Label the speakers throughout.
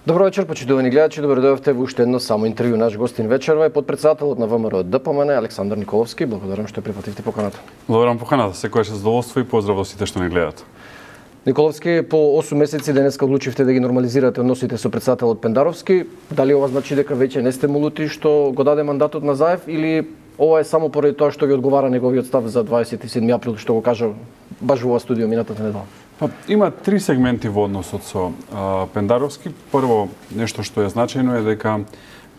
Speaker 1: Добро вечер, почитувани гледачи, добро дојдовте во уште едно само интервју. Наш гостин вечерва е потпредседателот на ВМРО ДПМН Александар Николовски. Благодарам што прифативте поканата.
Speaker 2: Благодарам поканата, секојаш задоволство и поздрав до сите што ни гледат.
Speaker 1: Николовски, по 8 месеци денеска одлучивте да ги нормализирате односите со претседателот Пендаровски. Дали ова значи дека веќе не сте молути што го даде мандатот на Заев или ова е само поради тоа што ви одговара неговиот став за 27 април што го кажа баш во ова студио минатата недела?
Speaker 2: Има три сегменти во односот со Пендаровски. Прво, нешто што е значајно е дека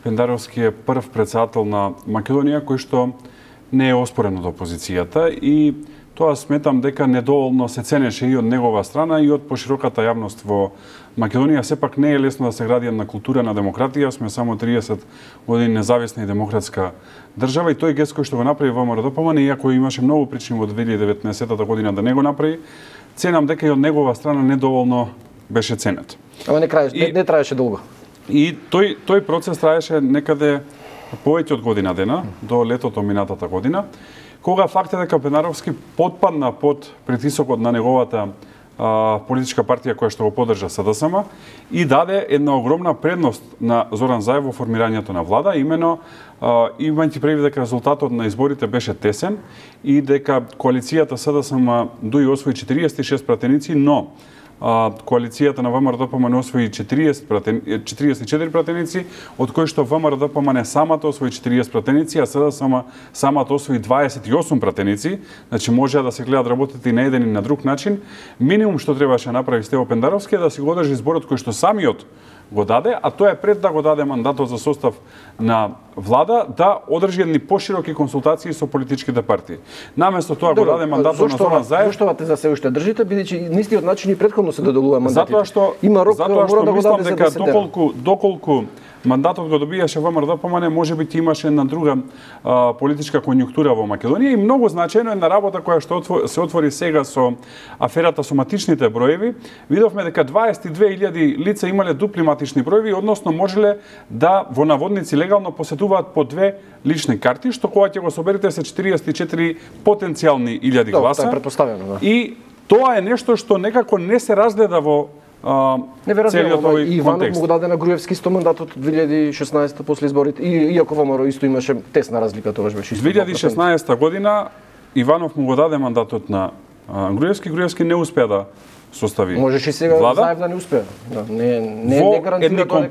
Speaker 2: Пендаровски е прв претседател на Македонија кој што не е оспорен од опозицијата и тоа сметам дека недоволно се ценеше и од негова страна и од пошироката јавност во Македонија. Сепак не е лесно да се гради една култура на демократија, сме само 30 години независна и демократска држава и тој гест кој што го направи ВМРО ДПМН, иако имаше многу причини во 2019 година да не го направи, ценам дека и од негова страна недоволно беше ценет.
Speaker 1: Ама не траеше долго.
Speaker 2: И тој процес траеше некаде повеќе од година дена, до летото минатата година, кога факт е дека Пендаровски потпадна под притисокот на неговата политичка партија која што го поддржа СДСМ и даде една огромна предност на Зоран Заев во формирањето на влада, именно имајќи предвид дека резултатот на изборите беше тесен и дека коалицијата СДСМ дуи освои 46 пратеници, но коалицијата на ВМРО ДПМН освои 44 пратеници, од кои што ВМРО ДПМН самата освои 40 пратеници, а СДСМ самата освои 28 пратеници, значи може да се гледат работите и на еден и на друг начин. Минимум што требаше да направи Стево Пендаровски е да си го одржи изборот кој што самиот го даде, а тоа е пред да го даде мандатот за состав на влада, да одржи едни пошироки консултации со политичките партии. Наместо тоа го даде мандатот на Зоран Заев.
Speaker 1: Зошто ова теза се уште држите, бидејќи на истиот начин и претходно се доделува мандатите?
Speaker 2: Затоа што
Speaker 1: има рок, мора да го даде за 10 дена.
Speaker 2: Доколку мандатот го добијаше ВМРО ДПМН, можеби ќе имаше една друга политичка конјунктура во Македонија и многу значајно е на работа која што се отвори сега со аферата со матичните броеви. Видовме дека 22.000 лица имале дупли матични броеви, односно можеле да во наводници легално посетуваат по две лични карти, што кога ќе го соберете се 44 потенцијални илјади гласа.
Speaker 1: Тоа е претпоставено, да.
Speaker 2: И тоа е нешто што некако не се разгледа во целиот овој
Speaker 1: контекст. Иванов му го даде на Груевски 100 мандатот од 2016 после изборите, иако ВМРО исто имаше тесна разлика, тогаш беше исто.
Speaker 2: 2016 година Иванов му го даде мандатот на Груевски, Груевски не успеа да состави.
Speaker 1: Можеше и сега Заев да не успее. Да, не гарантира
Speaker 2: тоа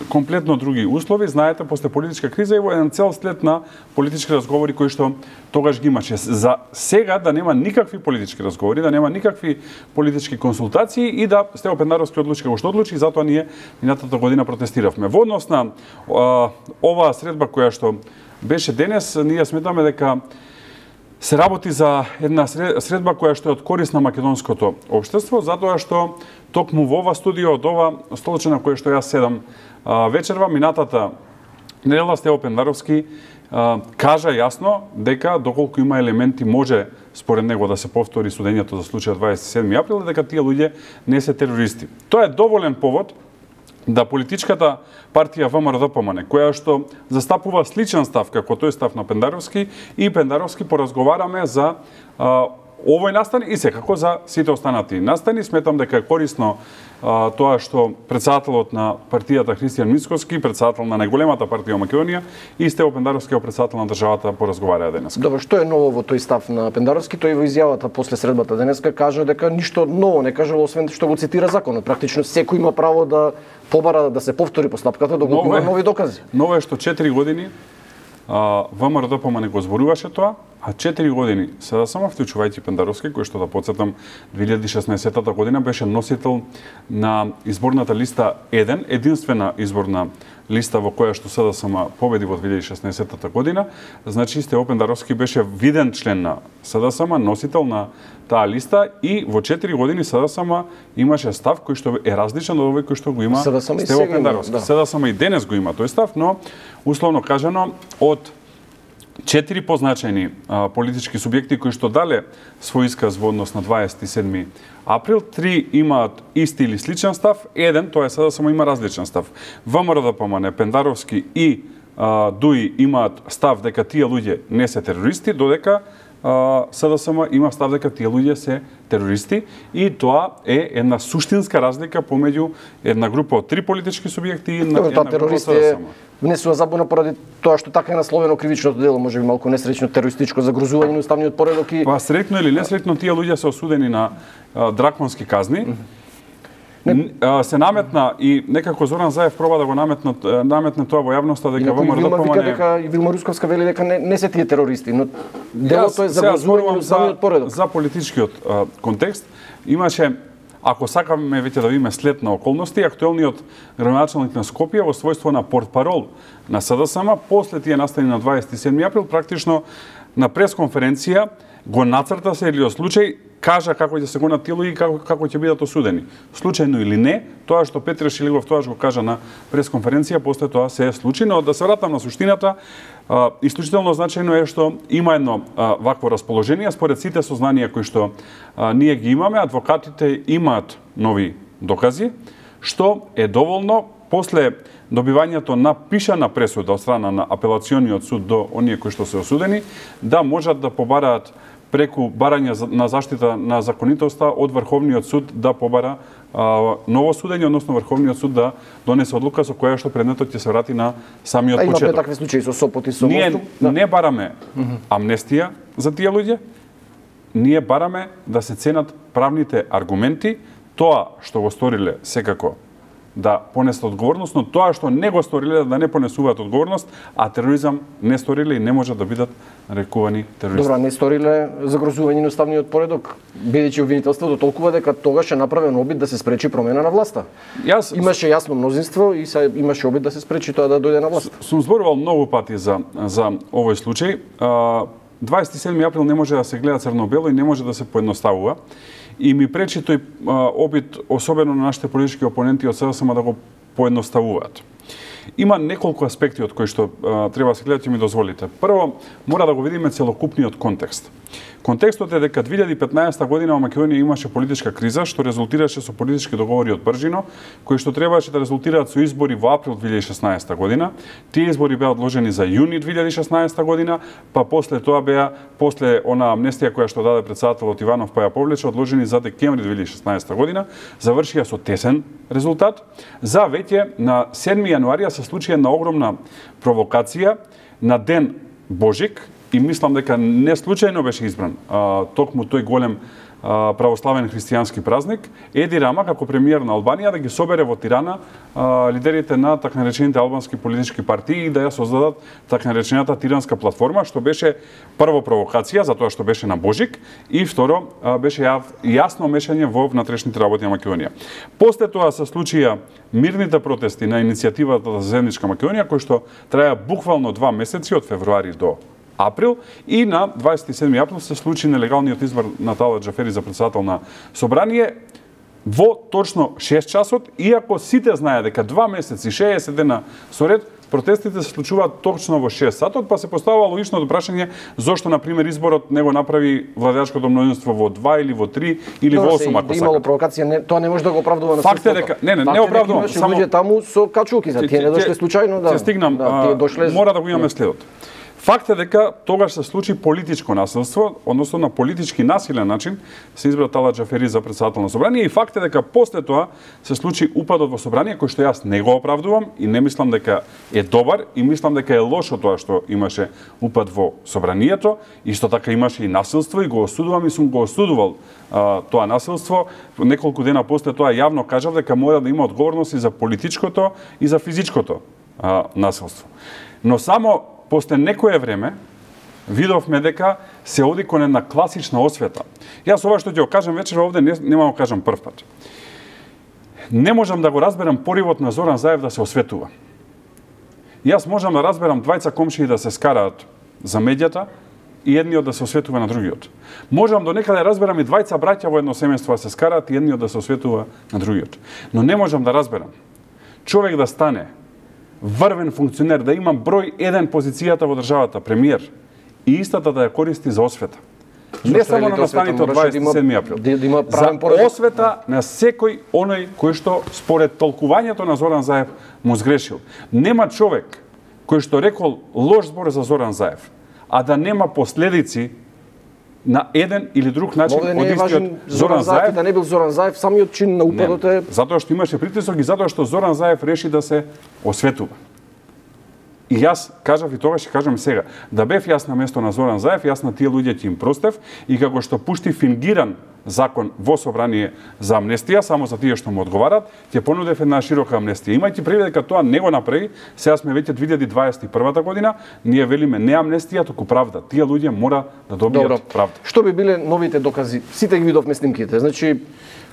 Speaker 2: комплетно други услови, знаете, после политичка криза и во еден цел след на политички разговори кои што тогаш ги имаше. За сега да нема никакви политички разговори, да нема никакви политички консултации и да Стево Пендаровски одлучи како што одлучи, затоа ние минатата година протестиравме. Во однос на оваа средба која што беше денес, ние сметаме дека се работи за една средба која што е од корис на македонското општество, затоа што токму во ова студио, од ова столче на кое што јас седам вечерва, минатата недела Стево Пендаровски кажа јасно дека доколку има елементи може според него да се повтори судењето за случајот 27 април, дека тие луѓе не се терористи. Тоа е доволен повод да политичката партија ВМРО ДПМН, која што застапува сличен став како тој став на Пендаровски, и Пендаровски поразговараме за овој настан и секако за сите останати настани. Сметам дека е корисно тоа што претседателот на партијата Христијан Мицкоски, претседател на најголемата партија во Македонија, и Стево Пендаровски, претседател на државата, поразговараа денес.
Speaker 1: Добро, што е ново во тој став на Пендаровски? Тој во изјавата после средбата денеска кажа дека ништо ново не кажал, освен што го цитира законот. Практично секој има право да побара да се повтори постапката доколку има нови докази.
Speaker 2: Ново е што 4 години ВМРО ДПМН го зборуваше тоа, а 4 години СДСМ, вклучувајќи Пендаровски, кој што да потсетам 2016 година беше носител на изборната листа 1, единствена изборна листа во која што СДСМ победи во 2016 година. Значи Стево Пендаровски беше виден член на СДСМ, носител на таа листа и во 4 години СДСМ имаше став кој што е различен од овој кој што го има Стево Пендаровски. СДСМ и денес го има тој став, но условно кажано од 4 позначајни политички субјекти кои што дале свој исказ во однос на 27 април, 3 имаат исти или сличен став, еден, тоа е сега само има различен став. ВМРО ДПМН, Пендаровски и ДУИ имаат став дека тие луѓе не се терористи, додека СДСМ има став дека тие луѓе се терористи и тоа е една суштинска разлика помеѓу една група од 3 политички субјекти и една група од СДСМ.
Speaker 1: Внесува забуна поради тоа што така е насловено кривичното дело, можеби малку несреќно терористичко загрозување на уставниот поредок и
Speaker 2: па среќно или несреќно тие луѓе се осудени на драконски казни. Се наметна и некако Зоран Заев проба да го наметне тоа во јавноста дека
Speaker 1: ВМРО дека и Вилма Русковска вели дека не се тие терористи, но делото е загрозување на уставниот поредок.
Speaker 2: За политичкиот контекст имаше, ако сакаме веќе да видиме след на околности, актуелниот градоначалник на Скопје во својство на портпарол на СДСМ, после тие настани на 27 април, практично на пресконференција го нацрта сериозен случај, кажа како ќе се гонат тие луѓе и како ќе бидат осудени. Случајно или не, тоа што Петре Шилигов тоа го кажа на пресконференција, после тоа се случи, но да се вратам на суштината, исклучително значајно е што има едно вакво расположение, според сите сознанија кои што ние ги имаме, адвокатите имаат нови докази, што е доволно после добивањето на пишана пресуда од страна на апелациониот суд до оние кои што се осудени, да можат да побараат преку барање на заштита на законитоста од Врховниот суд да побара ново судење, односно Врховниот суд да донесе одлука со која што предметот ќе се врати на самиот почеток.
Speaker 1: Имаме такви случаи со Сопот и со
Speaker 2: Ние не бараме амнестија за тие луѓе, ние бараме да се ценат правните аргументи, тоа што го сториле секако да понесат одговорност, но тоа што не го сториле да не понесуваат одговорност, а тероризам не сториле и не можат да бидат нарекувани терористи.
Speaker 1: Добра, не сториле загрозување на уставниот поредок, бидејќи обвинителството толкува дека тогаш е направен обид да се спречи промена на власта. Имаше јасно мнозинство и имаше обид да се спречи тоа да дојде на власт.
Speaker 2: Сум зборувал многу пати за овој случај. 27 април не може да се гледа црно-бело и не може да се поедноставува. И ми пречи тој обид, особено на нашите политички опоненти од СДСМ, да го поедноставуваат. Има неколку аспекти од кои што треба да се гледат и ми дозволите. Прво, мора да го видиме целокупниот контекст. Контекстот е дека 2015 година во Македонија имаше политичка криза што резултираше со политички договори од Бржино, кои што требаше да резултираат со избори во април 2016 година. Тие избори беа одложени за јуни 2016 година, па после тоа беа, после она амнестија која што даде претседателот Иванов па ја повлече, одложени за декември 2016 година, завршија со тесен резултат. За веќе на 7 јануарија се случи една огромна провокација на ден Божик, и мислам дека не случајно беше избран токму тој голем православен христијански празник, Еди Рама како премиер на Албанија да ги собере во Тирана лидерите на така наречените албански политички партии и да ја создадат така наречената Тиранска платформа, што беше прво провокација затоа што беше на Божик и второ беше јасно мешање во внатрешните работи на Македонија. После тоа се случија мирните протести на иницијативата за заедничка Македонија, кои што траја буквално 2 месеци од февруари до април и на 27 април се случи нелегалниот избор на Талат Џафери за претседател на Собрание во точно 6 часот, иако сите знаеат дека 2 месеци, 60 дена со ред, протестите се случуваат точно во 6 сатот, па се поставува логичното прашање зошто, например, изборот не го направи владеачкото мнозинство во 2 или во 3 или во 8, ако
Speaker 1: имало провокација, тоа не може да го оправдува на
Speaker 2: факт е дека не оправдувам,
Speaker 1: само луѓе таму со качулки, за тие не дошле случајно, да.
Speaker 2: Се стигнам, мора да го имаме следот. Факт е дека тогаш се случи политичко насилство, односно на политички насилен начин се избра Талат Џафери за претседател на Собрание и факт е дека после тоа се случи упадот во Собрание кој што јас не го оправдувам и не мислам дека е добар и мислам дека е лошо тоа што имаше упад во Собранието, исто така имаше и насилство и го осудувам и сум го осудувал тоа насилство. Неколку дена после тоа јавно кажав дека мора да има одговорност и за политичкото и за физичкото насилство. Но само после некое време видовме дека се оди кон една класична освета. Јас ова што ќе го кажам вечер овде нема го кажам прв пат. Не можам да го разберам поривот на Зоран Заев да се осветува. Јас можам да разберам двајца комшии да се скараат за медијата и едниот да се осветува на другиот. Можам до некаде разберам и двајца браќа во едно семејство да се скараат и едниот да се осветува на другиот. Но не можам да разберам човек да стане врвен функционер, да има број 1 позицијата во државата, премиер, и истата да ја користи за освета. Не само на настаните од 27 април. За освета на секој оној кој што според толкувањето на Зоран Заев му сгрешил. Нема човек кој што рекол лош збор за Зоран Заев, а да нема последици на еден или друг начин
Speaker 1: Овде не е важен Зоран Заев, да не бил Зоран Заев, самиот чин на упадот е...
Speaker 2: Затоа што имаше притисок и затоа што Зоран Заев реши да се осветува. И јас кажав и тогаш ќе кажам сега, да бев јас на место на Зоран Заев, јас на тие луѓе ќе им простев и како што пушти фингиран закон во собрание за амнестија, само за тие што му одговарат, ќе понудев една широка амнестија. Имајќи предвид дека тоа не го направи, сега сме веќе 2021 година, ние велиме не амнестија, туку правда. Тие луѓе мора да добијат правда.
Speaker 1: Што би биле новите докази? Сите ги видовме снимките. Значи,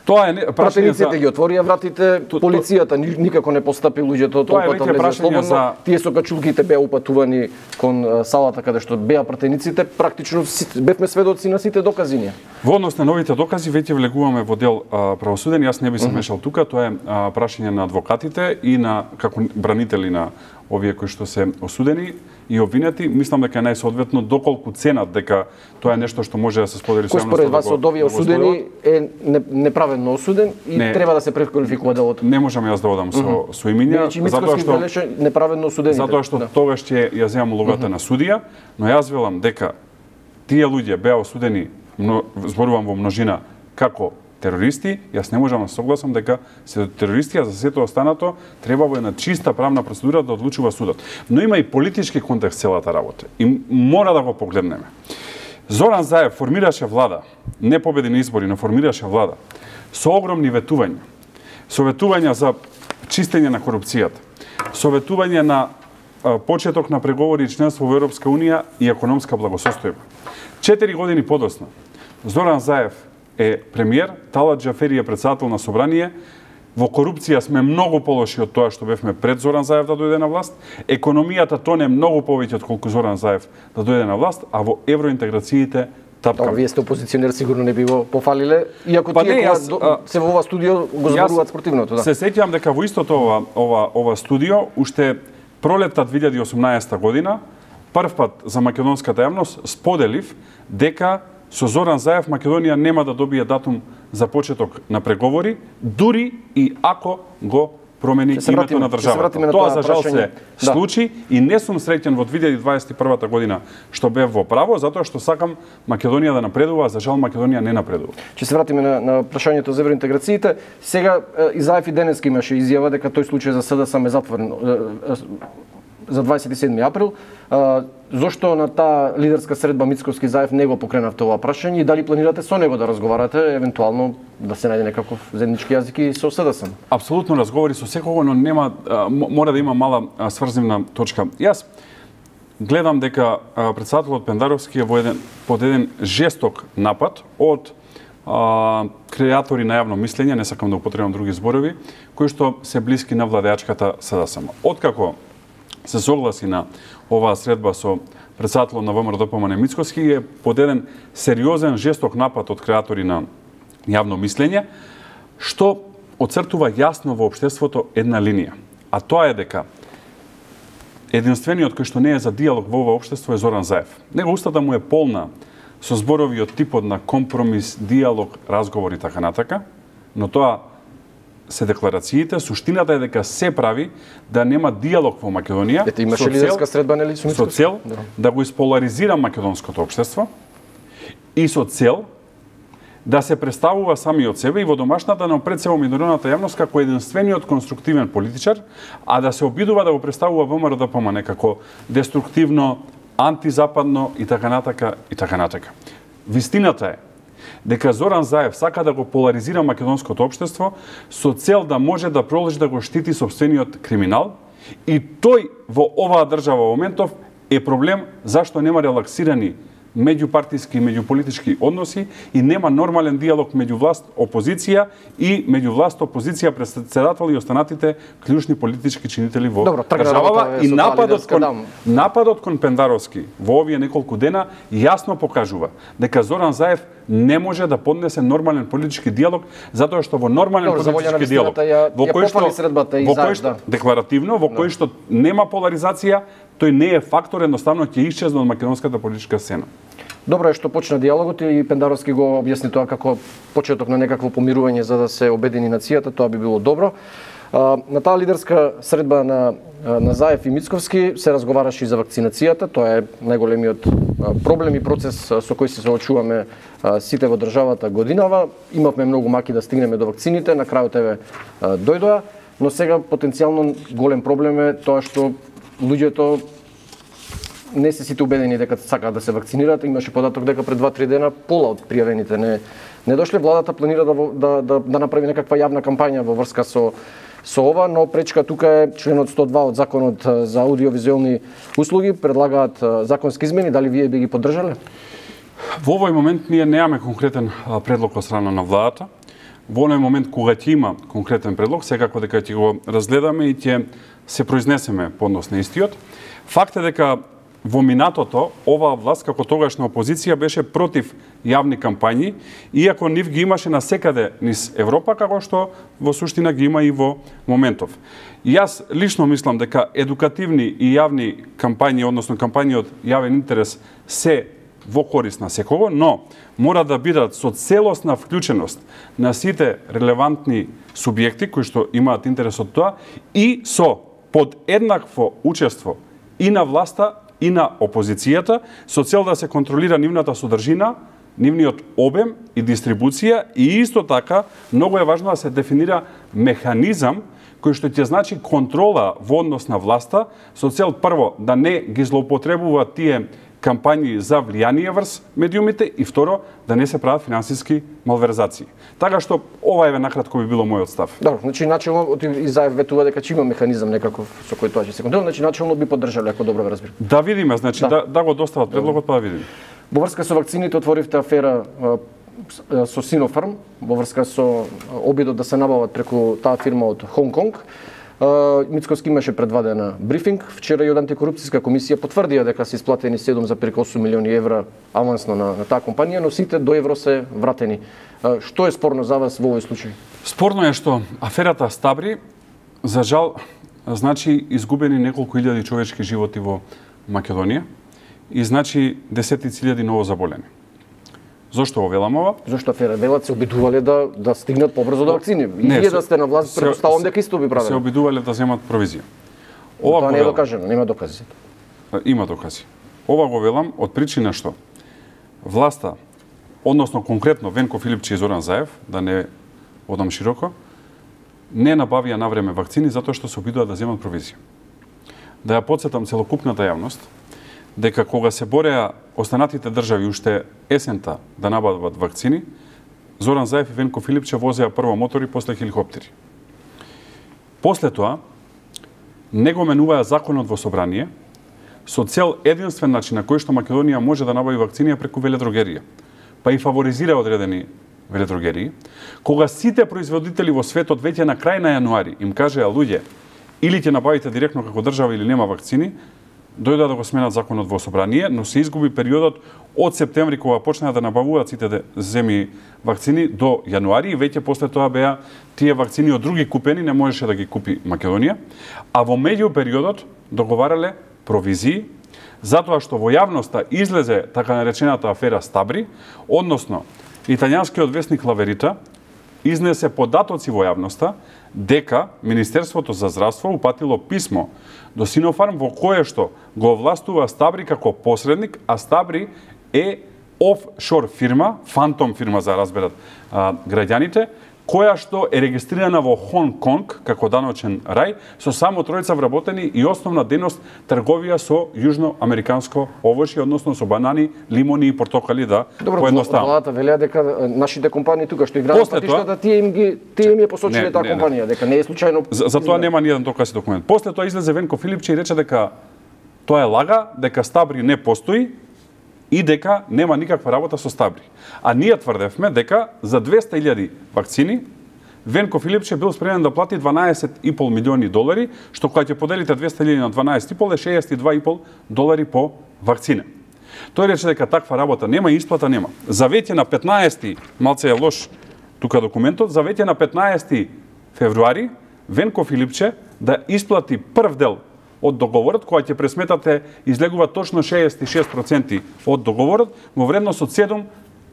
Speaker 2: тоа е прашање за...
Speaker 1: ги отворија вратите, полицијата никако не постапи луѓето толкова влезе слободно. Тие со качулките беа упатувани кон салата каде што беа пратениците, практично бевме сведоци на сите докази ние.
Speaker 2: Во однос на новите докази веќе влегуваме во дел правосуден, јас не би се мешал тука, тоа е прашање на адвокатите и на како бранители на овие кои што се осудени и обвинети. Мислам дека е најсоодветно доколку ценат дека тоа е нешто што може да се сподели со јавноста.
Speaker 1: Кој според вас од овие осудени е неправедно осуден и треба да се преквалификува делото?
Speaker 2: Не можам јас да одам со имиња,
Speaker 1: затоа што неправедно осудени.
Speaker 2: Затоа што тогаш ќе ја земам улогата на судија, но јас велам дека тие луѓе беа осудени, зборувам во множина, како терористи, јас не можам да согласам дека се терористи, а за сето останато треба во една чиста правна процедура да одлучува судот. Но има и политички контекст целата работа и мора да го погледнеме. Зоран Заев формираше влада, не победи на избори, но формираше влада со огромни ветувања. Со ветувања за чистење на корупцијата, со ветување на почеток на преговори и членство во Европска унија и економска благосостојба. 4 години подоцна Зоран Заев е премиер, Талат Џафери е председател на собрание. Во корупција сме многу полоши од тоа што бевме пред Зоран Заев да дојде на власт. Економијата тоне многу повеќе од колку Зоран Заев да дојде на власт, а во евроинтеграциите тапкаме.
Speaker 1: Вие сте опозиционер, сигурно не би го пофалиле, иако тие се во ова студио го зборуваат спротивното, да.
Speaker 2: Се сеќавам дека во истото ова студио уште пролетта 2018 година првпат за македонската јавност споделив дека со Зоран Заев Македонија нема да добие датум за почеток на преговори, дури и ако го промени името на државата. Тоа за жал се случи и не сум среќен во 2021 година што бев во право, затоа што сакам Македонија да напредува, а за жал Македонија не напредува.
Speaker 1: Ќе се вратиме на прашањето за евроинтеграциите. Сега и Заев и денеска имаше изјава дека тој случај за СДСМ е затворен за 27 април. Зошто на таа лидерска средба Мицковски Заев не го покренавте ова прашање и дали планирате со него да разговарате, евентуално да се најде некаков заеднички јазик и со СДСМ?
Speaker 2: Апсолутно разговори со секого, но нема мора да има мала сврзивна точка. Јас гледам дека председателот Пендаровски е под еден жесток напад од креатори на јавно мислење, не сакам да употребам други зборови, кои што се блиски на владеачката СДСМ. Откако се согласи на оваа средба со председателот на ВМРО-ДПМН Мицковски е под еден сериозен жесток напад од креатори на јавно мислење, што оцртува јасно во општеството една линија. А тоа е дека единствениот кој што не е за диалог во ова општество е Зоран Заев. Него устата му е полна со зборови од типот на компромис, диалог, разговор и така натака, но тоа се декларациите, суштината е дека се прави да нема диалог во Македонија.
Speaker 1: Ете, имаше лидерска средба, нели,
Speaker 2: со цел да го исполаризира македонското општество и со цел да се представува самиот себе и во домашната, но пред се во меѓународната јавност како единствениот конструктивен политичар, а да се обидува да го представува ВМРО-ДПМН како деструктивно, антизападно и така натака и така натака. Вистината е дека Зоран Заев сака да го поларизира македонското општество со цел да може да продолжи да го штити сопствениот криминал и тој во оваа држава во моментов е проблем зашто нема релаксирани меѓупартиски и меѓуполитички односи и нема нормален диалог меѓу власт, опозиција и меѓу власт, опозиција, председател и останатите клучни политички чинители во државава. И нападот кон Пендаровски во овие неколку дена јасно покажува дека Зоран Заев не може да поднесе нормален политички диалог, затоа што во нормален политички диалог, во кој што декларативно, во кој што нема поларизација, тој не е фактор, едноставно ќе исчезне од македонската политичка сцена.
Speaker 1: Добро е што почна диалогот и Пендаровски го објасни тоа како почеток на некакво помирување за да се обедини нацијата, тоа би било добро. На таа лидерска средба на Заев и Мицковски се разговараше и за вакцинацијата. Тоа е најголемиот проблем и процес со кој се соочуваме сите во државата годинава. Имавме многу маки да стигнеме до вакцините, на крајот еве дојдоа, но сега потенцијално голем проблем е тоа што луѓето не се сите убедени дека сакаат да се вакцинираат. Имаше податок дека пред 2-3 дена пола од пријавените не дошле. Владата планира да направи некаква јавна кампања во врска со ова, но пречка тука е членот 102 од Законот за аудиовизуелни услуги. Предлагаат законски измени, дали вие би ги поддржале?
Speaker 2: Во овој момент ние немаме конкретен предлог од страна на владата. Во овој момент кога ќе има конкретен предлог, секако дека ќе го разгледаме и ќе се произнесеме по однос на истиот. Факт е дека во минатото, оваа власт, како тогашна опозиција, беше против јавни кампањи, иако нив ги имаше насекаде низ Европа, како што во суштина ги има и во моментов. И јас лично мислам дека едукативни и јавни кампањи, односно кампањи од јавен интерес, се во корист на секого, но мора да бидат со целосна вклученост на сите релевантни субјекти кои што имаат интерес од тоа и со подеднакво учество и на власта и на опозицијата, со цел да се контролира нивната содржина, нивниот обем и дистрибуција, и исто така многу е важно да се дефинира механизам кој што ќе значи контрола во однос на власта, со цел прво да не ги злоупотребуваат тие кампањи за влијание врз медиумите и второ да не се прават финансиски малверзации. Така што ова е накратко би било мојот став.
Speaker 1: Добро, значи начелно и Заев ветува дека ќе има механизам некаков со кој тоа ќе се контролира, значи начелно би поддржале, ако добро ве разбирам.
Speaker 2: Да видиме, значи да го достават предлогот, па да видиме.
Speaker 1: Во врска со вакцините отворивте афера со Sinopharm, во врска со обидот да се набават преку таа фирма од Хонг Конг. Мицковски имаше пред 2 дена брифинг. Вчера и од антикорупцијска комисија потврдија дека се исплатени 7,8 милиони евра авансно на таа компанија, но сите до евро се вратени. Што е спорно за вас во овој случај?
Speaker 2: Спорно е што аферата Стабри, за жал, значи изгубени неколку илјади човечки животи во Македонија и значи десетици илјади ново заболени. Зошто го велам ова?
Speaker 1: Зошто афера велат се обидувале да стигнат побрзо до вакцини. И вие да сте на власт, претпоставувам дека исто би правеле.
Speaker 2: Се обидувале да земат провизија.
Speaker 1: Тоа не е докажано, нема докази.
Speaker 2: Има докази. Ова го велам од причина што власта, односно конкретно Венко Филипче и Зоран Заев, да не одам широко, не набавија навреме вакцини затоа што се обидува да земат провизија. Да ја потсетам целокупната јавност дека кога се бореа останатите држави уште есента да набават вакцини, Зоран Заев и Венко Филипче возеа прво мотори, после хеликоптери. После тоа, не го менуваа законот во собрание, со цел единствен начин на кој што Македонија може да набави вакцини преку веледрогерија, па и фаворизира одредени веледрогерии, кога сите производители во светот веќе на крај на јануари им кажеа луѓе, или ќе набавите директно како држава или нема вакцини, дојдоа да го сменат законот во собрание, но се изгуби периодот од септември кога почнаа да набавуваат сите земји вакцини до јануари и веќе после тоа беа тие вакцини од други купени, не можеше да ги купи Македонија, а во меѓу периодот договарале провизии, затоа што во јавноста излезе така наречената афера Стабри, односно италијанскиот весник Лаверита изнесе податоци во јавноста дека Министерството за здравство упатило писмо до Sinopharm во кое што го овластува Стабри како посредник, а Стабри е офшор фирма, фантом фирма за разберат граѓаните, која што е регистрирана во Хонг Конг како даночен рај, со само тројца вработени и основна дејност трговија со јужноамериканско овошје, односно со банани, лимони и портокали, да поедноставам.
Speaker 1: Владата велеа дека нашите компании тука што играат патиштата, тие им ја посочиле таа компанија, дека не е случајно.
Speaker 2: За тоа нема ни еден доказ и документ. После тоа излезе Венко Филипче и рече дека тоа е лага, дека Стабри не постои и дека нема никаква работа со Стабри. А ние тврдевме дека за 200.000 вакцини Венко Филипче бил спремен да плати 12,5 милиони долари, што кога ќе поделите 200.000 на 12,5 е 62,5 долари по вакцина. Тој рече дека таква работа нема и исплата нема. За веќе на 15, малце е лош тука документот, за веќе на 15 февруари Венко Филипче да исплати прв дел од договорот, која ќе пресметате излегува точно 66% од договорот во вредност од 7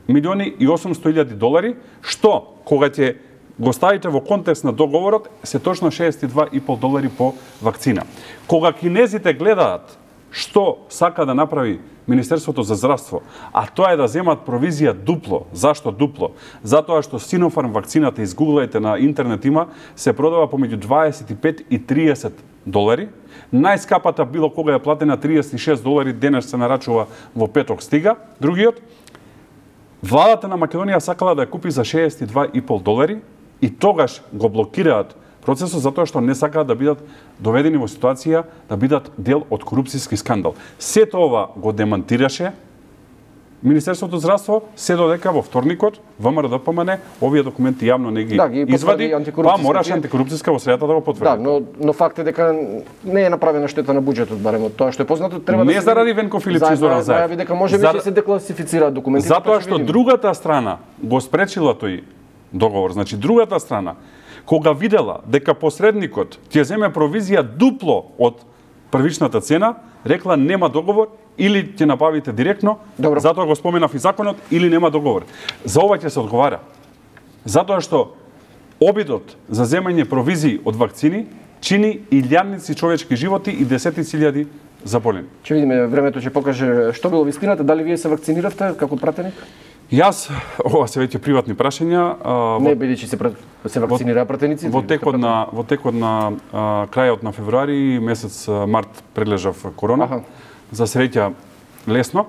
Speaker 2: милиони и 800.000 долари, што кога ќе го ставите во контекст на договорот, се точно $62,5 по вакцина. Кога кинезите гледаат што сака да направи Министерството за здравство, а тоа е да земат провизија дупло. Зашто дупло? Затоа што Sinopharm вакцината, изгуглајте на интернет има, се продава помеѓу $25 и $30. Најскапата било кога е платена $36, денес се нарачува во петок стига. Другиот, владата на Македонија сакала да ја купи за $62,5 и тогаш го блокираат процесот затоа што не сакаат да бидат доведени во ситуација да бидат дел од корупцијски скандал. Сето ова го демантираше Министерството за здравство, се додека во вторникот ВМРО-ДПМН овие документи јавно не ги извади, па мораше антикорупцијска во средата да го потврди.
Speaker 1: Да, но факт е дека не е направена штета на буџетот, барем од тоа што е познато, треба да
Speaker 2: не заради Венко Филипче и Зоран Заев.
Speaker 1: Дека можеби ќе се декласифицираат документите.
Speaker 2: Затоа што другата страна го спречила тој договор, значи другата страна кога видела дека посредникот ќе земе провизија дупло од првичната цена, рекла нема договор или ќе набавите директно, затоа го споменав и законот, или нема договор. За ова ќе се одговара. Затоа што обидот за земање провизии од вакцини чини илјадници човечки животи и десетици илјади заболени.
Speaker 1: Ќе видиме, времето ќе покаже што било вистината, дали вие се вакциниравте како пратеник?
Speaker 2: Јас, ова се веќе приватни прашања.
Speaker 1: Не бидејќи се вакцинираа пратеници.
Speaker 2: Во текот на крајот на февруари, месец март прележав корона. За среќа лесно.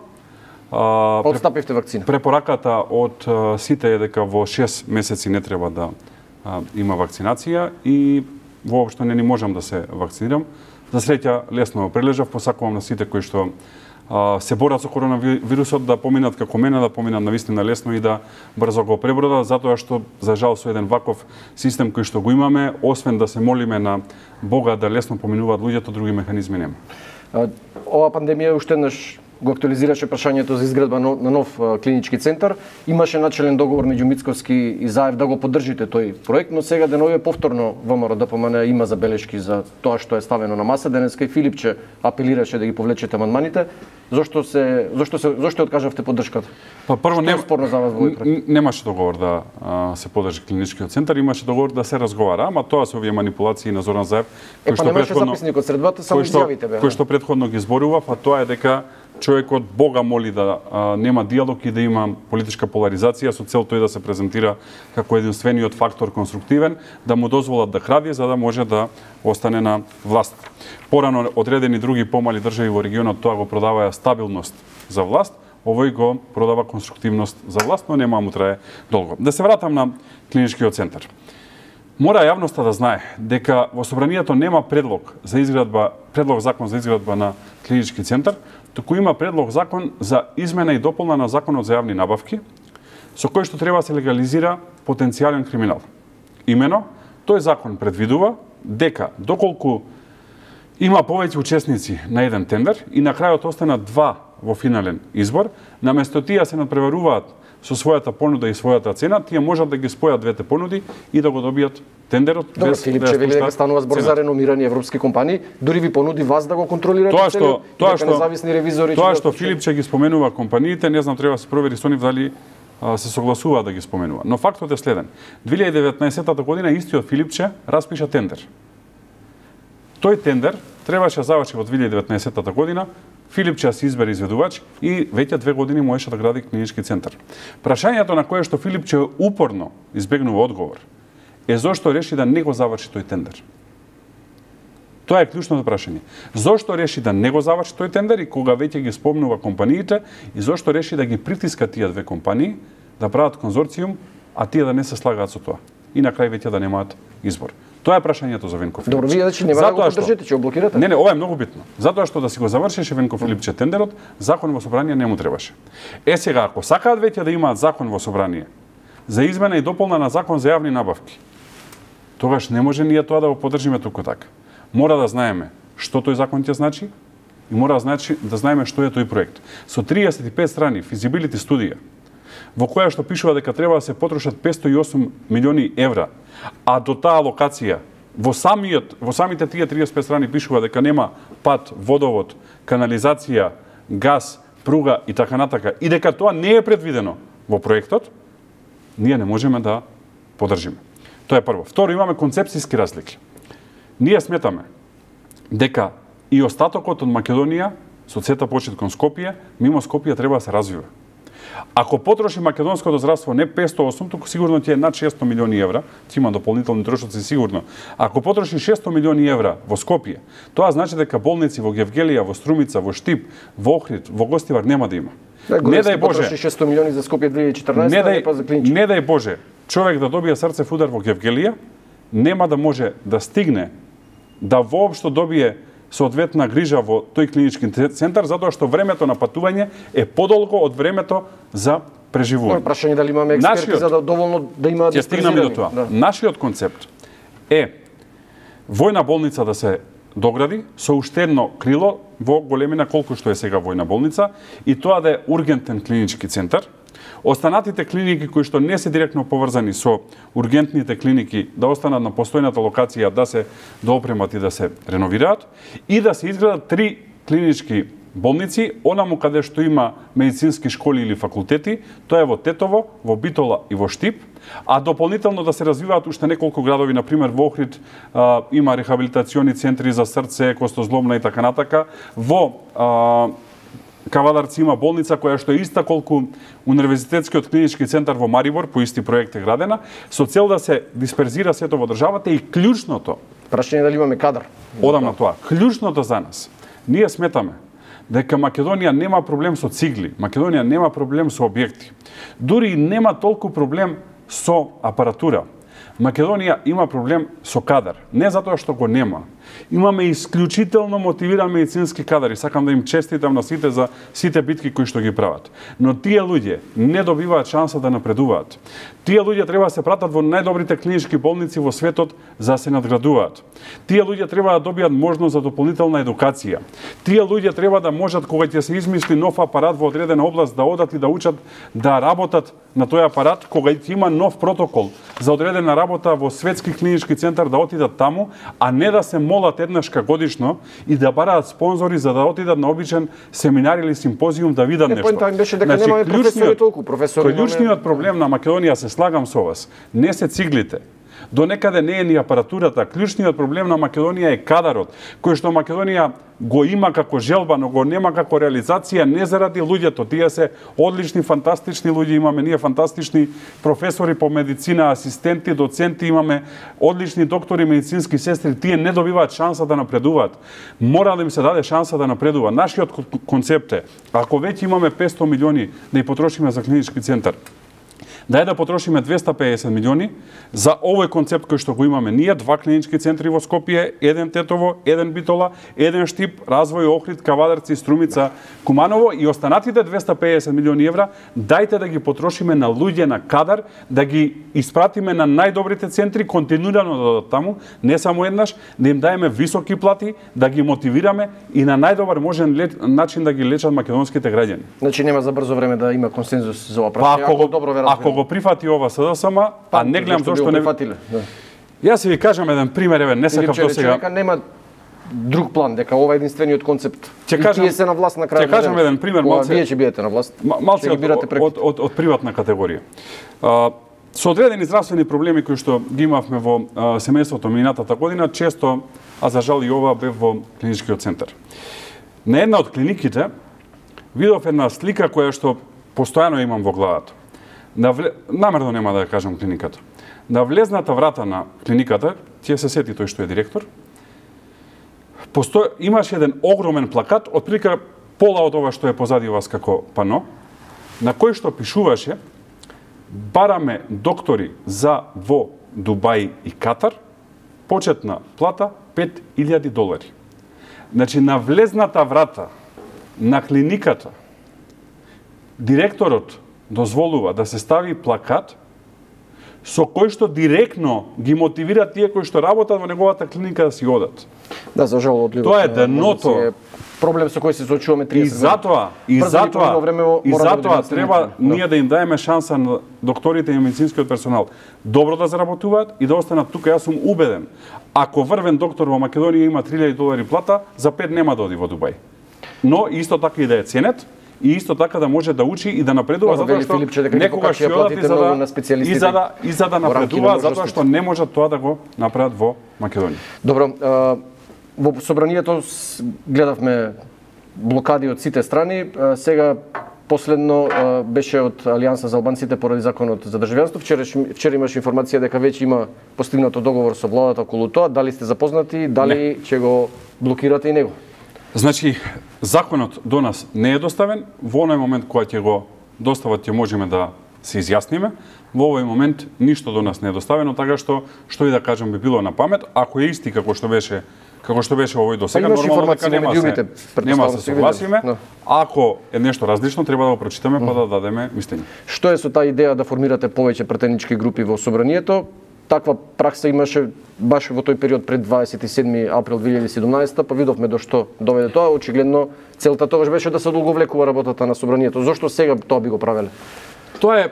Speaker 1: Отстапивте вакцина.
Speaker 2: Препораката од сите е дека во 6 месеци не треба да има вакцинација и воопшто не ни можам да се вакцинирам. За среќа лесно прележав, посакувам на сите кои што се борат со коронавирусот да поминат како мене, да поминат навистина лесно и да брзо го пребродат, затоа што за жал со еден ваков систем кој што го имаме, освен да се молиме на Бога да лесно поминуваат луѓето, други механизми нема.
Speaker 1: Ова пандемија уште еднаш го актуализираше прашањето за изградба на нов клинички центар. Имаше начелен договор меѓу Мицковски и Заев да го поддржите тој проект, но сега деновиве повторно ВМРО-ДПМН има забелешки за тоа што е ставено на маса. Денеска и Филипче апелираше да ги повлечете амандманите. Зошто откажавте поддршката?
Speaker 2: Па прво
Speaker 1: не спорно за вас во овој проект.
Speaker 2: Немаше договор да се поддржи клиничкиот центар, имаше договор да се разговара, ама тоа се овие манипулации на Зоран Заев,
Speaker 1: кој што претходно записникот средбата само изјавите беа.
Speaker 2: Кој што претходно ги зборува, па тоа е дека човекот Бога моли да нема диалог и да има политичка поларизација со цел тој да се презентира како единствениот фактор конструктивен, да му дозволат да кради за да може да остане на власт. Порано одредени други помали држави во регионот тоа го продаваја стабилност за власт, овој го продава конструктивност за власт, но нема му трае долго. Да се вратам на клиничкиот центар. Мора јавноста да знае дека во собранието нема предлог закон за изградба на клинички центар, туку има предлог закон за измена и дополна на законот за јавни набавки, со кој што треба да се легализира потенцијален криминал. Имено, тој закон предвидува дека доколку има повеќе учесници на еден тендер и на крајот останат два во финален избор, наместо тие се надпреваруваат со својата понуда и својата цена, тие можат да ги спојат двете понуди и да го добијат тендерот.
Speaker 1: Добро, Филипче вели дека станува збор за реномирани европски компании, дури ви понуди вас да го контролирате целиот, дека независни ревизори.
Speaker 2: Тоа што Филипче ги споменува компаниите, не знам, треба да се провери со нив дали се согласува да ги споменува. Но фактот е следен. 2019 година истиот Филипче распиша тендер. Тој тендер требаше да заврши во 2019 година. Филипче се избере изведувач и веќе 2 години можеше да гради клинички центар. Прашањето на кое што Филипче упорно избегнува одговор е зошто реши да не го заврши тој тендер. Тоа е клучното прашање. Зошто реши да не го заврши тој тендер и кога веќе ги спомнува компаниите и зошто реши да ги притиска тие две компании да прават конзорциум, а тие да не се слагаат со тоа. И на крај веќе да немаат избор. Тоа е прашањето за Венко Филипче.
Speaker 1: Добро, вие значи нема да го поддржите, ќе го блокирате?
Speaker 2: Не, ова е многу битно. Затоа што да си го завршеше Венко Филипче тендерот, закон во собрание не му требаше. Сега, ако сакаат веќе да имаат закон во собрание за измена и дополна на закон за јавни набавки, тогаш не може ние тоа да го поддржиме туку така. Мора да знаеме што тој закон ќе значи и мора да знаеме што е тој проект. Со 35 страни feasibility студија во која што пишува дека треба да се потрошат 508 милиони евра, а до таа локација во самите тие 35 страни пишува дека нема пат, водовод, канализација, газ, пруга и така натака, и дека тоа не е предвидено во проектот, ние не можеме да поддржиме. Тоа е прво. Второ, имаме концепцијски разлики. Ние сметаме дека и остатокот од Македонија, со сета почет кон Скопје, мимо Скопје треба да се развива. Ако потроши македонското здравство не 508, туку сигурно ќе е над 600 милиони евра, ќе има дополнителни трошоци сигурно. Ако потроши 600 милиони евра во Скопје, тоа значи дека болници во Гевгелија, во Струмица, во Штип, во Охрид, во Гостивар нема да има.
Speaker 1: Не дај Боже 600 милиони за Скопје 2014, не па за Клинички.
Speaker 2: Не дај Боже човек да добие срцев удар во Гевгелија, нема да може да стигне да воопшто добие соодветна грижа во тој клинички центар, затоа што времето на патување е подолго од времето за преживување.
Speaker 1: Прашање дали имаме експерти за да доволно да имаат
Speaker 2: Ќе стигнеме до тоа. Да. Нашиот концепт е војна болница да се догради со уште едно крило во големина колку што е сега војна болница и тоа да е ургентен клинички центар. Останатите клиники кои што не се директно поврзани со ургентните клиники да останат на постојната локација, да се доопремат и да се реновираат и да се изградат 3 клинички болници, онаму каде што има медицински школи или факултети, тоа е во Тетово, во Битола и во Штип, а дополнително да се развиваат уште неколку градови, например во Охрид има рехабилитациони центри за срце, костозломна и така натака, во Кавадарци има болница која што е иста колку Универзитетскиот клинички центар во Марибор, по исти проект е градена, со цел да се дисперзира сето во државата и клучното.
Speaker 1: Прашање дали имаме кадар.
Speaker 2: Одам на тоа. Клучното за нас. Ние сметаме дека Македонија нема проблем со цигли, Македонија нема проблем со објекти. Дури нема толку проблем со апаратура. Македонија има проблем со кадар. Не затоа што го нема. Имаме исклучително мотивиран медицински кадар и сакам да им честитам на сите за сите битки кои што ги прават. Но тие луѓе не добиваат шанса да напредуваат. Тие луѓе треба да се пратат во најдобрите клинички болници во светот за да се надградуваат. Тие луѓе треба да добијат можност за дополнителна едукација. Тие луѓе треба да можат кога ќе се измисли нов апарат во одредена област да одат и да учат да работат на тој апарат, кога ќе има нов протокол за одредена работа во светски клинички центар да отидат таму, а не да се молат еднашка годишно и да бараат спонзори за да отидат на обичен семинар или симпозиум да видат нешто.
Speaker 1: Поентата беше дека немаме професори толку, професори.
Speaker 2: Клучниот проблем на Македонија, се слагам со вас, не се циглите. До некаде не е ни апаратурата. Клучниот проблем на Македонија е кадарот, кој што Македонија го има како желба, но го нема како реализација, не заради луѓето. Тие се одлични, фантастични луѓе, имаме ние фантастични професори по медицина, асистенти, доценти, имаме одлични доктори, медицински сестри, тие не добиваат шанса да напредуваат. Мора да им се даде шанса да напредува. Нашиот концепт е, ако веќе имаме 500 милиони да ја потрошиме за клинички центар, дај да потрошиме 250 милиони за овој концепт кој што го имаме ние, 2 клинички центри во Скопје, 1 Тетово, 1 Битола, 1 Штип, развој Охрид, Кавадарци, Струмица, Куманово и останатите 250 милиони евра, дајте да ги потрошиме на луѓе на кадар, да ги испратиме на најдобрите центри, континуирано да дадат таму, не само еднаш, да им даеме високи плати, да ги мотивираме и на најдобар можен начин да ги лечат македонските граѓани.
Speaker 1: Значи нема за брзо време да има консензус за ова прашање, ако добро ве разбирам.
Speaker 2: Го прифати ова СДСМ, а не гледам зошто не
Speaker 1: прифатиле. Да.
Speaker 2: Јас ви кажам еден пример, еве, не сакам до сега.
Speaker 1: Дека нема друг план, дека ова е единствениот концепт.
Speaker 2: Тие
Speaker 1: се на власт на крајот.
Speaker 2: Ќе кажам еден пример, малце.
Speaker 1: Вие ќе бидете на власт.
Speaker 2: Малце од приватна категорија. Со одредени здравствени проблеми кои што ги имавме во семејството минатата година, често, а за жал и ова бев во клиничкиот центар. На една од клиниките видов една слика која што постојано имам во главата. Намерно нема да ја кажам клиниката. На влезната врата на клиниката, ќе се сети тој што е директор, имаше еден огромен плакат, отприлика пола од ова што е позади вас како пано, на кој што пишуваше бараме доктори за во Дубај и Катар, почетна плата $5,000. Значи, на влезната врата на клиниката, директорот дозволува да се стави плакат со кој што директно ги мотивира тие кои што работат во неговата клиника да си одат.
Speaker 1: Да, за жал одливот.
Speaker 2: Тоа е дното.
Speaker 1: Проблем со кој се соочуваме 30
Speaker 2: И затоа треба ние да им даеме шанса на докторите и медицинскиот персонал добро да заработуваат и да останат тука. Јас сум убеден, ако врвен доктор во Македонија има $3,000 плата, за 5 нема да оди во Дубај. Но исто така и да е ценет и исто така да може да учи и да напредува, затоа што некогаш ќе одат и за да напредува, затоа што не можат тоа да го направат во Македонија.
Speaker 1: Добро, во собранието гледавме блокади од сите страни, сега последно беше од Алијанса за албанците поради законот за државјанство. Вчера имаше информација дека веќе има постигнато договор со владата околу тоа. Дали сте запознати, дали ќе го блокирате и него?
Speaker 2: Значи, законот до нас не е доставен. Во оној момент кога ќе го достават, ќе можеме да се изјасниме. Во овој момент ништо до нас не е доставено, така што и да кажам би било на памет. Ако е исти како што беше овој до сега, нормално дека нема се согласиме. Ако е нешто различно, треба да го прочитаме па да дадеме мислење.
Speaker 1: Што е со таа идеја да формирате повеќе претенички групи во собранието? Таква пракса имаше баш во тој период пред 27 април 2017, па видовме до што доведе тоа. Очигледно целта тогаш беше да се одолговлекува работата на собранието. Зошто сега тоа би го правеле?
Speaker 2: Тоа е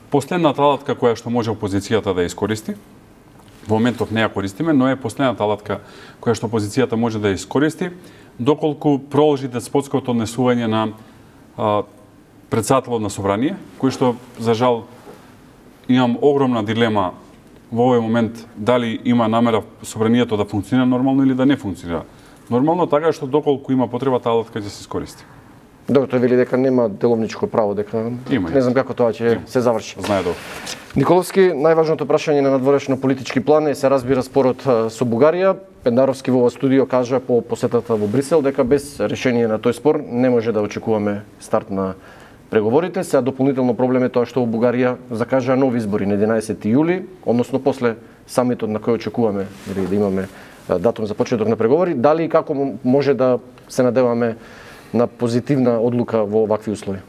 Speaker 2: последната алатка која што може опозицијата да искористи. Во моментов не ја користиме, но е последната алатка која што опозицијата може да ја искористи, доколку продолжи деспотското однесување на претседателот на собрание, кој што, за жал, имам огромна дилема во овој момент дали има намера собранието да функционира нормално или да не функционира нормално, така што доколку има потреба таа алатка ќе се искористи.
Speaker 1: Добро, тој вели дека нема деловничко право, дека не знам како тоа ќе се заврши.
Speaker 2: Знае добро.
Speaker 1: Николовски, најважното прашање на надворешно политички план е се разбира спорот со Бугарија. Пендаровски во ова студио кажа по посетата во Брисел дека без решение на тој спор не може да очекуваме старт на преговорите. Сега дополнително проблем е тоа што во Бугарија закажаа нови избори на 11 јули, односно после самитот на кој очекуваме да имаме датум за почеток на преговори. Дали и како може да се надеваме на позитивна одлука во вакви услови?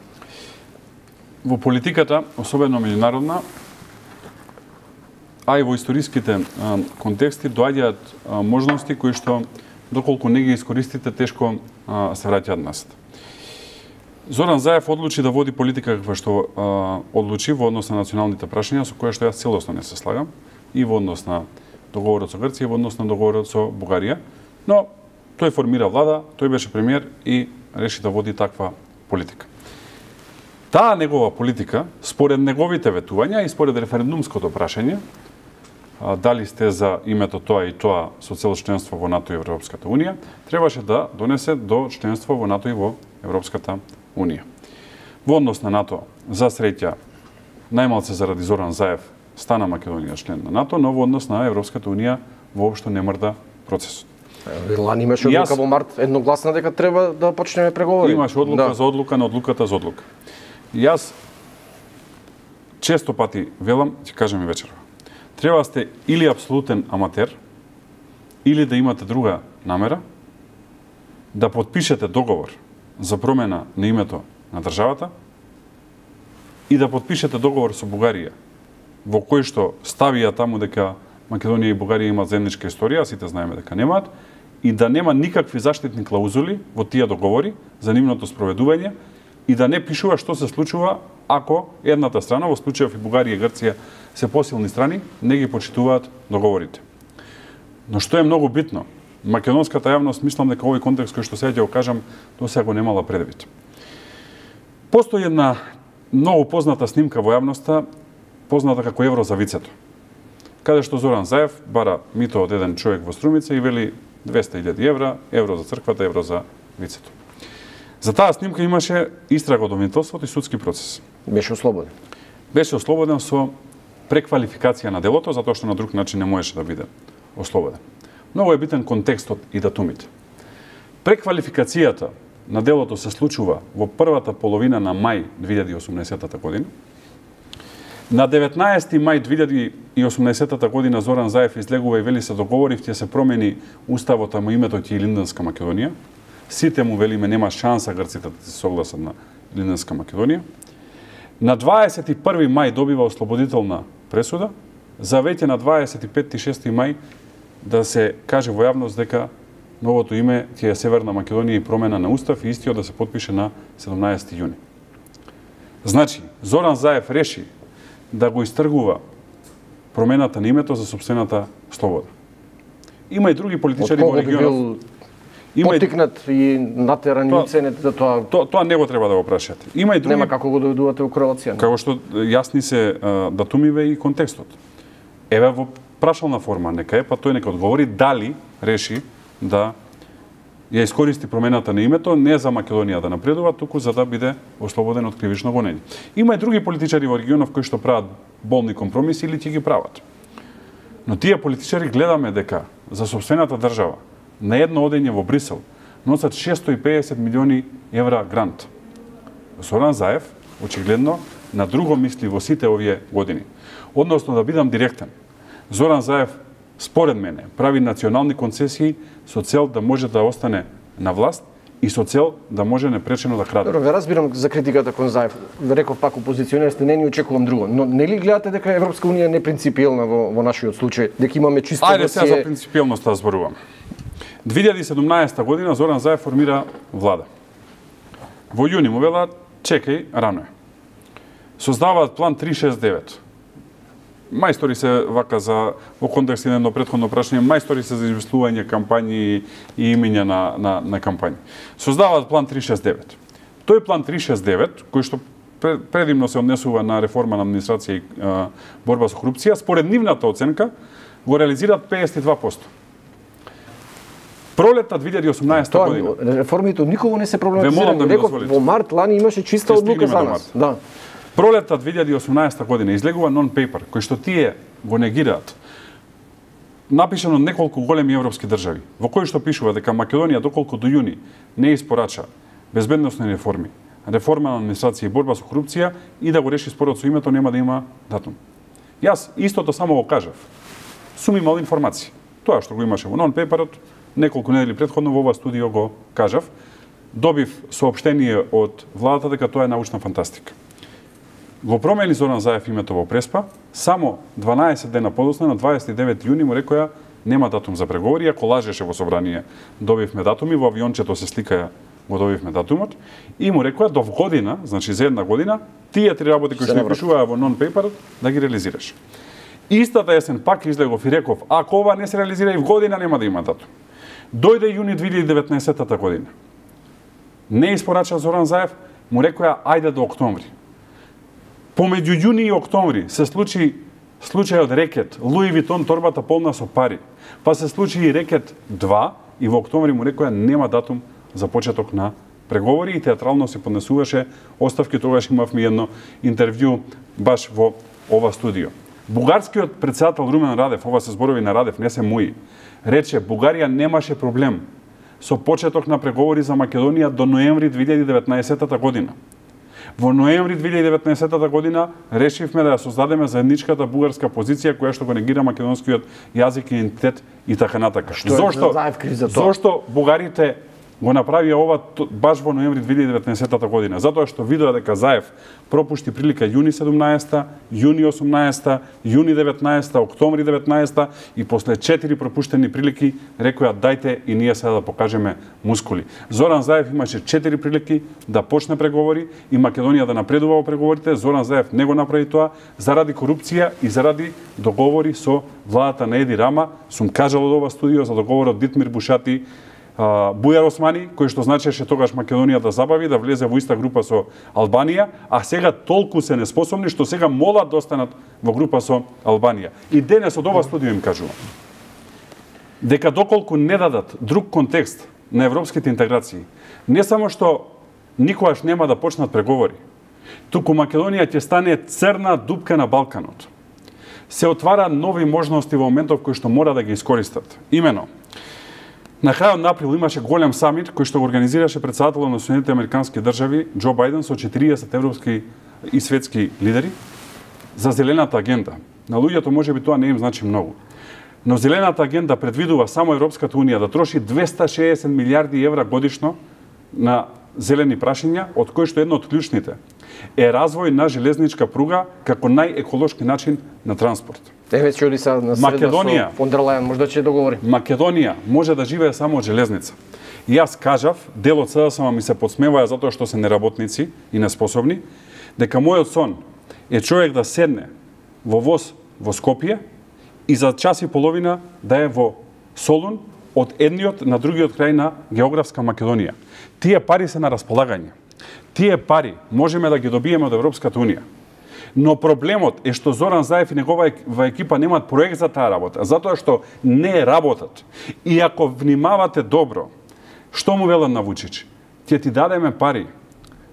Speaker 2: Во политиката, особено меѓународна, а и во историските контексти доаѓаат можности кои што доколку не ги искористите тешко се враќаат назад. Зоран Заев одлучи да води политика каква што одлучи во однос на националните прашања со која што јас целосно не се слагам, и во однос на договорот со Грција и во однос на договорот со Бугарија, но тој формира влада, тој беше премиер и реши да води таква политика. Таа негова политика, според неговите ветувања и според референдумското прашање, дали сте за името тоа и тоа со цел членство во НАТО и Европската Унија, требаше да донесе до членство во НАТО и во Европската Унија. Во однос на НАТО, за среќа, најмалце заради Зоран Заев стана Македонија член на НАТО, но во однос на Европската Унија воопшто не мрда процесот.
Speaker 1: Лани имаше одлука во март едногласна дека треба да почнеме преговори.
Speaker 2: Имаше одлука за одлука на одлуката за одлука. Јас често пати велам, ќе кажам и вечерва. Треба сте или апсолутен аматер, или да имате друга намера, да потпишете договор за промена на името на државата и да потпишете договор со Бугарија, во кој што ставија таму дека Македонија и Бугарија имаат заедничка историја, сите знаеме дека немаат, и да нема никакви заштитни клаузули во тие договори за нивното спроведување и да не пишува што се случува ако едната страна, во случајов и Бугарија и Грција се посилни страни, не ги почитуваат договорите. Но што е многу битно, македонската јавност, мислам дека овој контекст кој што сега ќе го кажам, до сега го немала предвид. Постои една многу позната снимка во јавноста, позната како евро за вицето, каде што Зоран Заев бара мито од еден човек во Струмица и вели 200.000 евра, евро за црквата, евро за вицето. За таа снимка имаше истрага од обвинителството и судски процес.
Speaker 1: Беше ослободен.
Speaker 2: Беше ослободен со преквалификација на делото, затоа што на друг начин не можеше да биде ослободен. Многу е битен контекстот и датумите. Преквалификацијата на делото се случува во првата половина на мај 2018 година. На 19 мај 2018 година Зоран Заев излегува и вели се договорив ќе се промени уставот, а му името ќе е Илинденска Македонија. Сите му велиме нема шанса грците да се согласат на Илинденска Македонија. На 21 мај добива ослободителна пресуда, за веќе на 25 и 6 мај да се каже во јавност дека новото име ќе е Северна Македонија и промена на устав и истиот да се потпише на 17 јуни. Значи, Зоран Заев реши да го истргува промената на името за сопствената слобода. Има и други политичари во регионот.
Speaker 1: Потикнат и натерани цените за тоа.
Speaker 2: Тоа не го треба да го прашате. Има и други.
Speaker 1: Нема како го доведувате во корелација.
Speaker 2: Како што јасни се датумиве и контекстот. Еве во прашална форма нека е, па тој нека одговори дали реши да ја искористи промената на името не за Македонија да напредува, туку за да биде ослободен од кривично гонење. Има и други политичари во регионов кои што прават болни компромиси или ќе ги прават. Но тие политичари гледаме дека за сопствената држава на едно одење во Брисел носат 650 милиони евра грант. Зоран Заев, очигледно, на друго мисли во сите овие години. Односно, да бидам директен, Зоран Заев, според мене, прави национални концесии со цел да може да остане на власт и со цел да може непречено да краде.
Speaker 1: Добро, ве разбирам за критиката кон Заев. Ве реков пак опозиционер сте, не ни очекувам друго. Но нели гледате дека Европска унија не принципиелна во нашиот случај, дека имаме чисто
Speaker 2: Ајде сега за принципиелноста зборувам. 2017 година Зоран Заев формира влада. Во јуни му велат, чекај, рано е. Создаваат план 369. Мајстори се вака за во контекст на едно претходно прашање, мајстори се за измислување кампањи и имиња на кампањи. Создаваат план 369. Тој план 369, кој што предимно се однесува на реформа на администрација и борба со корупција, според нивната оценка го реализираат 52%. Пролетта 2018 година.
Speaker 1: Реформите никога не се проблематизирани. Реков, во март лани имаше чиста одлука за нас. Да.
Speaker 2: Пролетта 2018 година излегува нон-пейпер, кој што тие го негираат, напишано од неколку големи европски држави, во кој што пишува дека Македонија доколку до јуни не испорача безбедносни реформи, реформа на администрација и борба со корупција и да го реши спорот со името, нема да има датум. Јас истото само го кажав. Сум имал информации. Тоа што го имаше во нон-пейперот, неколку недели претходно во ова студио го кажав. Добив соопштение од владата дека тоа е научна фантастика. Го промени Зоран Заев името во Преспа, само 12 дена подоцна, на 29 јуни му рекоја нема датум за преговори, ако лажеше во собрание добивме датуми, во авиончето се сликаја го добивме датумот, и му рекоја до година, значи за една година, тие три работи кои што пишуваа во нон-пейперот, да ги реализираш. Истата есен пак излегов и реков, ако ова не се реализира и в година нема да има датум. Дојде јуни 2019 година. Не испорача Зоран Заев, му рекоја ајде до октомври. Помеѓу јуни и октомври се случи случајот Рекет, Луи Витон торбата полна со пари. Па се случи и Рекет 2 и во октомври му рекоја нема датум за почеток на преговори и театрално се поднесуваше оставки. Тогаш имавме едно интервју баш во ова студио. Бугарскиот претседател Румен Радев, ова се зборови на Радев, не се мои, рече Бугарија немаше проблем со почеток на преговори за Македонија до ноември 2019 година. Во ноември 2019 година решивме да ја создадеме заедничката бугарска позиција која што го негира македонскиот јазик и идентитет и така натака. Зошто бугарите го направија ова баш во ноември 2019 година? Затоа што видоа дека Заев пропушти прилика јуни 17, јуни 18, јуни 19, октомври 19 и после 4 пропуштени прилики рекоја дајте и ние сега да покажеме мускули. Зоран Заев имаше 4 прилики да почне преговори и Македонија да напредува во преговорите. Зоран Заев не го направи тоа заради корупција и заради договори со владата на Еди Рама. Сум кажал од ова студио за договорот Дитмир Бушати, Бујар Османи, кој што значеше тогаш Македонија да забави, да влезе во иста група со Албанија, а сега толку се неспособни што сега молат да останат во група со Албанија. И денес од ова студио им кажувам дека доколку не дадат друг контекст на европските интеграции, не само што никогаш нема да почнат преговори, туку Македонија ќе стане црна дупка на Балканот. Се отвара нови можности во моментов кои што мора да ги искористат. Имено, на крајот на април имаше голем самит кој што го организираше претседателот на Соединетите американски држави Џо Бајден со 40 европски и светски лидери за зелената агенда. На луѓето можеби тоа не им значи многу. Но зелената агенда предвидува само Европската унија да троши 260 милиарди евра годишно на зелени прашања, од кои што едно од клучните е развој на железничка пруга како најеколошки начин на транспорт.
Speaker 1: Еве ќе оди сега на среда со фон дер Лајен, можда ќе договори.
Speaker 2: Македонија може да живее само од железница. И јас кажав, дел од СДСМ ми се подсмеваја затоа што се неработници и неспособни, дека мојот сон е човек да седне во воз во Скопје и за час и половина да е во Солун од едниот на другиот крај на географска Македонија. Тие пари се на располагање. Тие пари можеме да ги добиеме од Европската унија. Но проблемот е што Зоран Заев и неговата екипа немаат проект за таа работа, затоа што не работат. И ако внимавате добро, што му велат на Вучич? Ќе ти дадеме пари.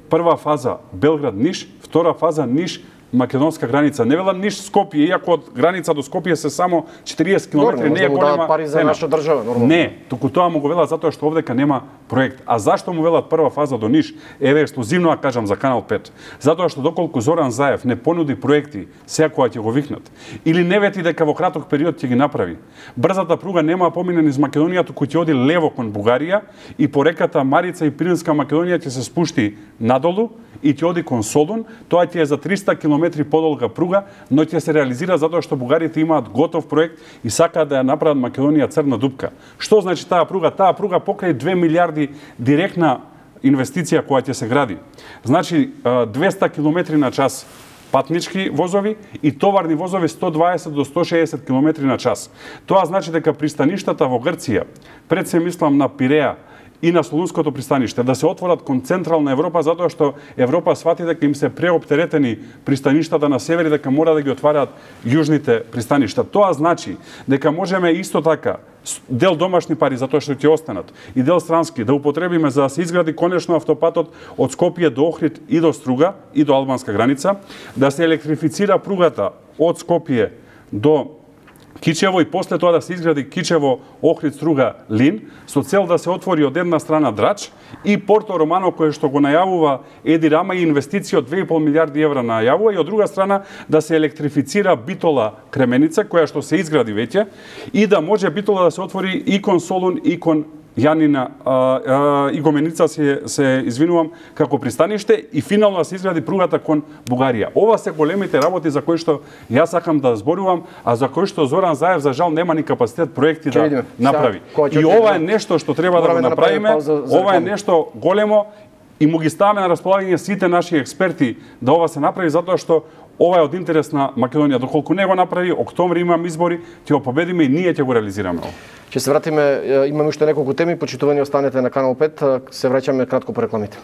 Speaker 2: Прва фаза Белград-Ниш, втора фаза Ниш-Македонска граница. Не велат Ниш-Скопје, иако од граница до Скопје се само 40 км, не е голема
Speaker 1: пари за
Speaker 2: цена.
Speaker 1: наша држава, нормално.
Speaker 2: Не, туку тоа му го велат затоа што овдека нема проект. А зашто му велат прва фаза до Ниш? Еве ексклузивно ја кажам за Канал 5. Затоа што доколку Зоран Заев не понуди проекти, сега кога ќе го викнат, или не вети дека во краток период ќе ги направи, брзата пруга нема помине низ Македонија, туку ќе оди лево кон Бугарија и по реката Марица и Пиринска Македонија ќе се спушти надолу и ќе оди кон Солун. Тоа ќе е за 300 км подолга пруга, но ќе се реализира затоа што бугарите имаат готов проект и сакаат да ја направат Македонија црна дупка. Што значи таа пруга? Таа пруга покрај 2 милиарди директна инвестиција која ќе се гради. Значи 200 км на час патнички возови и товарни возови 120 до 160 км на час. Тоа значи дека пристаништата во Грција, пред се мислам на Пиреа и на Солунското пристаниште, да се отворат кон Централна Европа, затоа што Европа свати дека им се преоптеретени пристаништата на север и дека мора да ги отвараат јужните пристаништа. Тоа значи дека можеме исто така дел домашни пари, затоа што ќе останат, и дел странски, да употребиме за да се изгради конечно автопатот од Скопје до Охрид и до Струга и до албанска граница, да се електрифицира пругата од Скопје до Кичево и после тоа да се изгради Кичево, Охрид, Струга, Лин, со цел да се отвори од една страна Драч и Порто Романо, кое што го најавува Еди Рама и инвестиција од 2,5 милиарди евра најавува, и од друга страна да се електрифицира Битола Кременица, која што се изгради веќе, и да може Битола да се отвори и кон Солун и кон Јанина и Гоменица се извинувам како пристаниште, и финално да се изгради пругата кон Бугарија. Ова се големите работи за кои што јас сакам да зборувам, а за кои што Зоран Заев за жал нема ни капацитет проекти да направи. И ова е нешто што треба да го направиме, ова е нешто големо и му ги ставаме на располагање сите наши експерти да ова се направи, затоа што ова е од интерес на Македонија. Доколку не го направи, октомври имаме избори, ќе го победиме и ние ќе го реализираме.
Speaker 1: Ќе се вратиме, имаме уште неколку теми, почитувани останете на Канал 5, се враќаме кратко по рекламите.